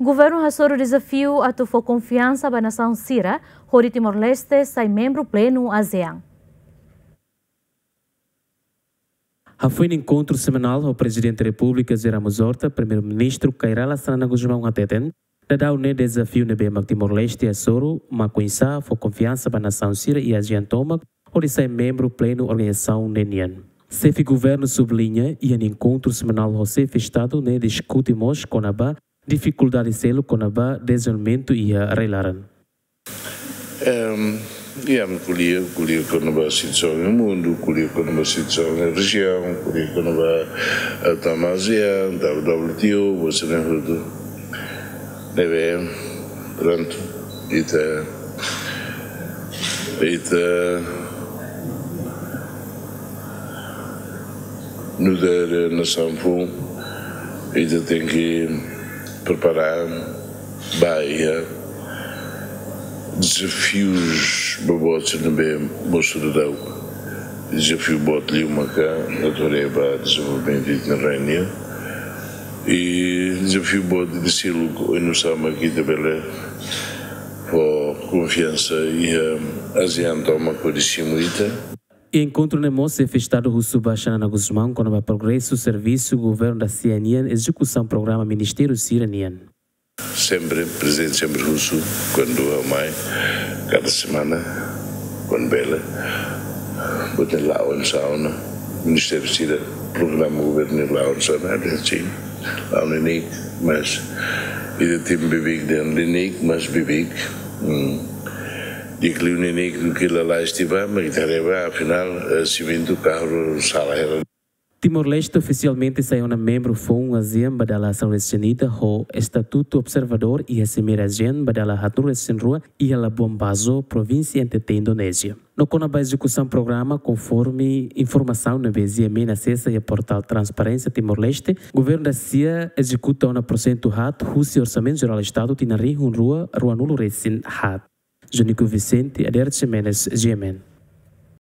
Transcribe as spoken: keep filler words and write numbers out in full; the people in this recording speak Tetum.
Governu hasoru dezafiu atu fó konfiansa ba nasaun sira hodi Timor-Leste sai membru plenu ASEAN. Hafoin enkontru semanál ho Prezidente Repúblika José Ramos Horta, Primeiru-Ministru Kay Rala Xanana Gusmão hateten, daudaun ne'e dezafiu ne'ebé mak Timor-Leste hasoru mak oinsá fó konfiansa ba nasaun sira iha ASEAN tomak hodi sai membru plenu organizasaun ne'e nian. Xefe Governu subliña, iha enkontru semanál ho Xefe Estadu ne'e diskute mós kona-ba difikuldade seluk kona-ba dezenvolvimentu iha rai-laran. Ehm, iha ko'alia, ko'alia kona-ba situasaun iha mundu, ko'alia kona-ba situasaun iha rejiaun, ko'alia kona-ba, eh, tama ASEAN, tama W T O, buat sira-ne'e hotu. Ne'ebé, prontu, ita, ita nu'udar nasaun foun, ita tenke prepara ba iha dezafius boboot sira ne'ebé mosu daudaun. Dezafiu boot liu maka atu haree ba dezenvolvimentu iha rai nian. I dezafiu boot ida seluk, oinsá mak ita bele fó konfiansa iha ASEAN tomak hodi simu ita. Enkontru ne'e mós Xefe Estadu husu ba Xanana Gusmão kona-ba progresu servisu governu da ASEAN nian, ezekusaun programa ministériu sira-nian. Sempre, Prezidente sempre husu, kuandu ha'u mai, kada semana, kuandu bele, buat ne'e la'o oinsá ona, ministériu sira, programa governu la'o oinsá ona, ada sim, la'o neineik, mas ida tim beibeik dehan neineik, mas beibeik. Hmm. Di'ak liu neineik duké lalais tiha ba, mas ita haree ba, afinál, eh, simentu kahur sala hela. Timor-Leste ofisialmente sai ona membru foun ASEAN ba dala sanulu-resin-ida ho estatutu observadór iha Simeira ASEAN ba dala haatnulu-resin-rua iha Labuan Bajo, provínsia N T T, Indonézia. No kona-ba ezekusaun programa, konforme informasaun ne'ebé G M N asesa iha portál Transparénsia Timor-Leste, governu da ASEAN ezekuta ona porsentu haat husi Orsamentu Jerál Estadu tinan rihun rua ruanulu-resin-haat. Junico Vicente, Adérito Ximenes, G M N.